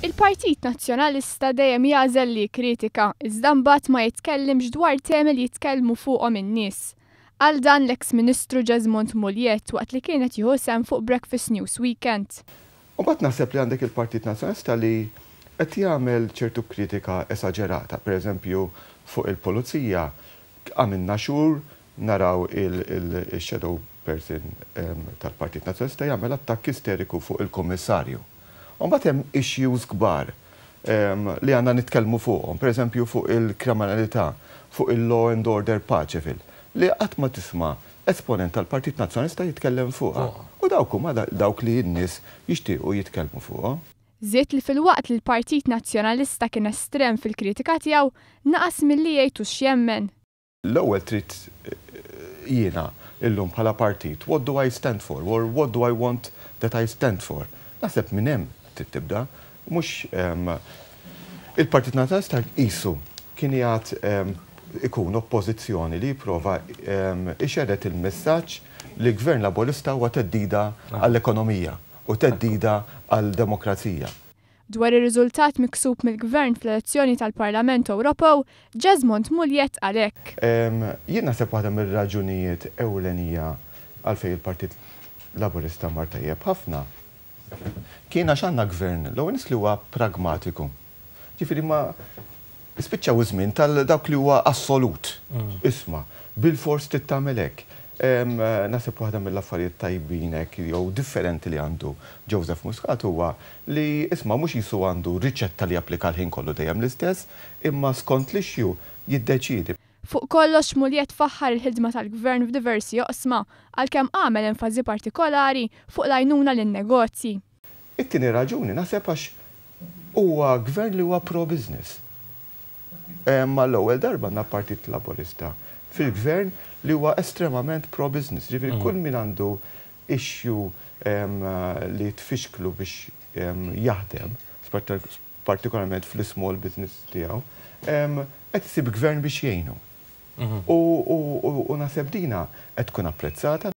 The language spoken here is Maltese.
Il-Partit Nazzjonalista dejjem jagħżel li jikkritika, iżda mbagħad ma jitkellimx dwar temi li jitkellmu fuqhom in-nies. Qal dan l-eks Ministru Jesmond Mugliett waqt li kien qed jieħu sehem fuq Breakfast News Weekend. U mbagħad naħseb li għandek il-Partit Nazzjonalista li qed jagħmel ċertu kritika esaġerata. Per eżempju, fuq il-pulizija għamilna xhur naraw il-shadow person tal-Partit Nazzjonalista jagħmel attakk isteriku fuq il-Kummissarju. U mbagħad hemm issues kbar li għandna nitkellmu fuqhom, per eżempju fuq il-kriminalità, fuq il-law and order Paceville, li qatt ma tisma' esponent tal-Partit Nazzjonalista jitkellem fuqha. U dawk huma dawk li n-nies jixtiequ jitkellmu fuqhom. Żied li filwaqt li l-Partit Nazzjonalista kien estrem fil-kritika tiegħu, naqas milli jgħid hux x'jemmen. L-ewwel trid jiena illum bħala partit, what do I stand for or what do I want that I stand for? Naħseb minn hemm trid tibda, mhux il-Partit Nazzjonalista qisu kien qiegħed ikun oppożizzjoni li jipprova ixerred il-messaġġ li Gvern Laburista huwa theddida għall-ekonomija u theddida għall-demokrazija. Dwar ir-riżultat miksub mill-Gvern fl-elezzjoni tal-Parlament Ewropew, Jesmond Mugliett qal hekk. Jien naħseb waħda mir-raġunijiet ewlenija għalfejn il-Partit Laburista mar tajjeb ħafna kien għax għandna Gvern l-ewwel nett li huwa pragmatiku. Ġifieri ma spiċċaw iż-żmien tal dawk li huwa assolut. Isma', bilfors trid tagħmel hekk. Naħseb waħda mill-affarijiet tajbin hekk jew differenti li għandu Joseph Muscat huwa li isma' mhux qisu għandu riċetta li japplika l-ħin kollu dejjem l-istess, imma skont l-issue jiddeċiedi. Fuq kollox Mugliett faħħar il-ħidma tal-Gvern f'diversi oqsma, għalkemm għamel enfasi partikolari fuq l-għajnuna lin-negozji. It-tieni raġuni naħseb għax huwa gvern li huwa pro-business. Mal-ewwel darba għandna Partit Laburista fil-gvern li huwa estremament pro-business. Ġifieri kull min għandu issue li tfixklu biex jaħdem, partikolarment fl-small business tiegħu, qed isib gvern biex jgħinu. U naħseb dina qed tkun apprezzata.